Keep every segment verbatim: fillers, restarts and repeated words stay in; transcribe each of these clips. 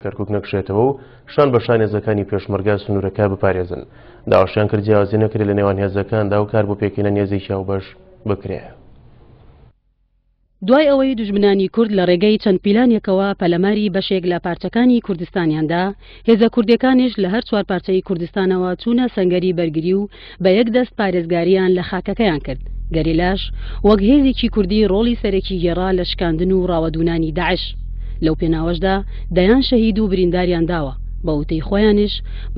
کەرکوک نەکشێتەوە و شان بە شان هێزەکانی پێشمەرگە سنوورەکە بپارێزن. داواشیان کرد جیاوازی نەکرێت لە نێوان هێزەکاندا و کار بۆ پێکهێنانی هێزێکی هاوبەش بکرێت. دوای ئەوەی دوژمنانی کورد لە ڕێگەی چەند پیلانێکەوە پەلەماری بەشێک لە پارچەکانی کوردستانیاندا، هێزە کوردەکانیش لە هەر چوار پارچەی کوردستانەوە چوونە سەنگەری بەرگری و بە یەک دەست پارێزگاریان لە خاکەکەیان کرد. گەریلاش وەک هێزێکی کوردی ڕۆڵی سەرەکی گێڕا لە شکاندن و ڕاوەدوونانی داعش. لەو پێناوەشدا دەیان شەهید و برینداریان داوە. بە وتەی خۆیانیش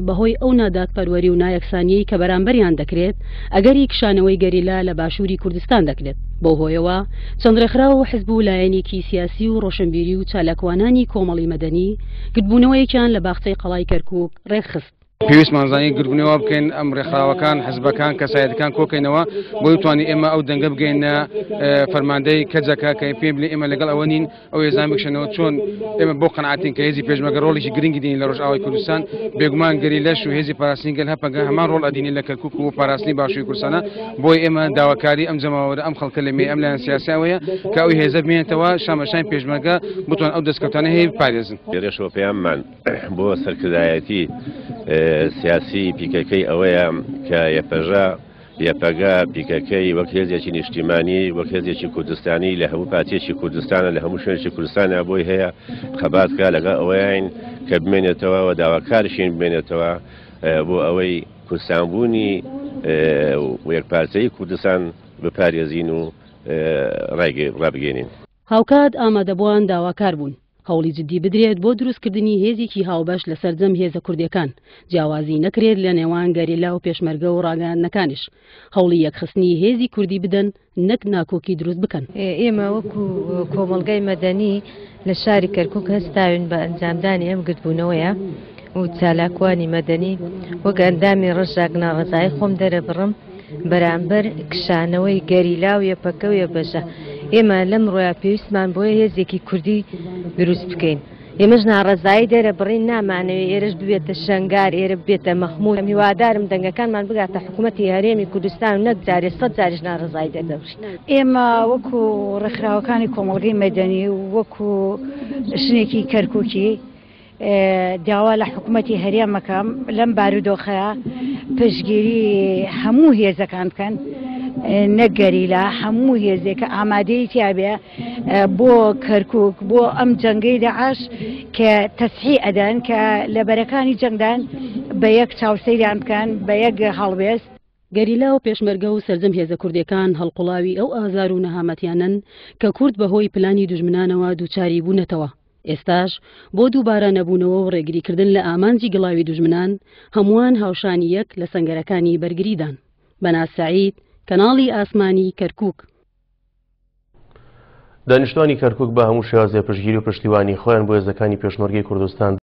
بەهۆی ئەو نادادپەروەری و نایەکسانیەی کە بەرامبەریان دەکرێت، ئەگەری کشانەوەی گەریلا لە باشووری کوردستان دەکرێت. بەو هۆیەوە چەند ڕێکخراو و حزب و لایەنێکی سیاسی و ڕۆشنبیری و چالاکوانانی کۆمەڵی مەدەنی گردبوونەوەیەکیان لە باخچەی قەڵای کەرکوک ڕێکخست. پێویستمان زانی گردبوونەوە بکەین، ئەم ڕێکخراوەکان، حزبەکان، کەسایەتەکان کۆکەینەوە بۆی بتوانین ئێمە ئەو دەنگە بگەینە فەرماندەی کەجەکە کە پێم بڵێ ئێمە لەگەڵ ئەوە نین ئەو هێزان بکشێنەوە. چۆن ئێمە بۆ قەناعەتین کە هێزی پێشمەرگە ڕۆڵێکی گرنگی دێنین لە ڕۆژئاوای کوردستان، بێگومان گەریلاش و هێزی پاراستنی گەل هەپەگە هەمان ڕۆڵ ئەدینین لە کەرکوک و پاراستنی باشووری کوردستانە. بۆی ئێمە داواکاری ئەم جەماوەرە، ئەم خەڵکە لەمێ، ئەم لایەن سیاسیەوەیە کە ئەو هێزە بمێنێتەوە شان بە شانی پێشمەرگە بتوان ئەو دەستکەوتانە هەیە بپارێزن. لێرەشەوە پەیاممان بۆ سەرکردایەتی سیاسی پیکەکەی ئەوەیە کە یەپەژە، یەپەگە، پیکەکەی وەک هێزێکی نیشتیمانی، وەک هێزێکی کوردستانی لە هەموو پارچەیەکی کوردستانە، لە هەموو شوێنێکی کوردستانە بۆی هەیە خەبات بکە. لەگەڵ ئەوەیان کە بمێنێتەوە و داواکارشین بمێنێتەوە بۆ ئەوەی کوردستانبوونی و یەکپارچەی کوردستان بپارێزین و ڕابگەێنین. هاوکات ئامادەبووان داواکار بوون هەوڵی جدی بدرێت بۆ دروستکردنی هێزێکی هاوبەش لە سەرجەم هێزە کوردیەکان، جیاوازی نەکرێت لە نێوان گەریلا و پێشمەرگە و ڕاگەیاندنەکانیش، هەوڵی یەکخستنی هێزی کوردی بدەن نەک ناکۆکی دروست بکەن. ئێمە وەکو کۆمەڵگای مەدەنی لە شاری کەرکوک هەستاوین بە ئەنجامدانی ئەم گردبوونەوەیە و چالاکوانی مەدەنی وەک ئەندامی ڕژاک ناڕەزایی خۆم دەرەبڕم بەرامبەر کشانەوەی گەریلا و یەپەکە و یەپەژە. ئێمە لەم ڕۆیا پێویستمان بۆیە هێزێکی کوردی دروست بکەین. ئێمەش ناڕەزایی دەرەبڕین، نامانەوێت ئێرەش ببێتە شەنگار، ئێرە ببێتە مەخموور. هیوادارم دەنگەکانمان بگاتە حکوومەتی هەرێمی کوردستان و نەک جارێ سەد جاریش ناڕەزایی دەردەبڕین. ئێمە وەکو ڕێکخراوەکانی کۆمەڵگەی مەدەنی و وەکو ژنێکی کەرکوکی داوا لە حکوومەتی هەرێمەکەم لەم بارودۆخەیە پشتگیری هەموو هێزەکان بکەن، نەک گەریلا، هەموو هێزێکە ئامادەی تیابێ بۆ کەرکوک، بۆ ئەم جەنگەی داعش کە تەسحی ئەدەن، کە لە بەرەکانی جەنگدان بە یەک چاوسەیریان بکەن، بە یەک هەڵوێست. گەریلا و پێشمەرگە و سەرجەم هێزە کوردیەکان هەڵقوڵاوی ئەو ئازار و نەهامەتیانن کە کورد بەهۆی پلانی دوژمنانەوە دووچاری بوونەتەوە. ئێستاش بۆ دووبارە نەبوونەوە و ڕێگریکردن لە ئامانجی گڵاوی دوژمنان، هەمووان هاوشانی یەک لە سەنگەرەکانی بەرگریدان. بەناز سەعید، کەناڵی ئاسمانی کەرکوک. دانیشتوانی کەرکوک بە هەموو شێوازێ پشتگیری و پشتیوانی خۆیان بۆ هێزەکانی پێشمەرگەی کوردستان